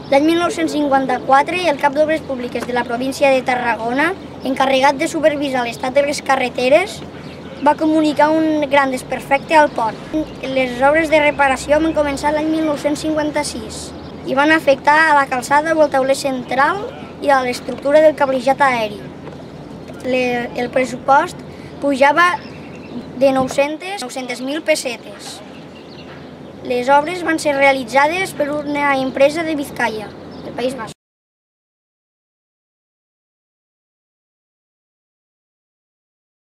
L'any 1954, el cap d'Obres Públiques de la província de Tarragona, encarregat de supervisar l'estat de les carreteres, va comunicar un gran desperfecte al pont. Les obres de reparació van començar l'any 1956 i van afectar a la calçada o el tauler central i a l'estructura del cablejat aeri. El pressupost pujava de 900.000 pessetes. Les obres van ser realitzades per una empresa de Vizcaya, del País Basc.